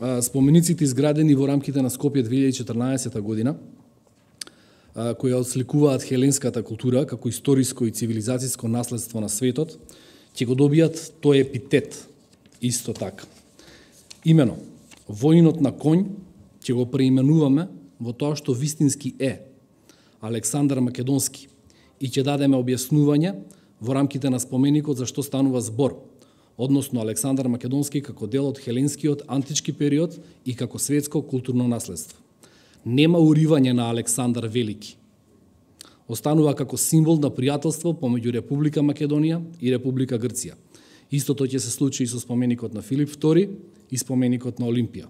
спомениците изградени во рамките на Скопје 2014 година, кои отсликуваат хеленската култура како историско и цивилизацијско наследство на светот, ќе го добијат тој епитет исто така. Имено, воинот на конј ќе го преименуваме во тоа што вистински е Александар Македонски и ќе дадеме објаснување во рамките на споменикот за што станува збор, односно Александар Македонски како дел од хеленскиот антички период и како светско културно наследство. Нема уривање на Александар Велики. Останува како символ на пријателство помеѓу Република Македонија и Република Грција. Истото ќе се случи и со споменикот на Филип II и споменикот на Олимпија.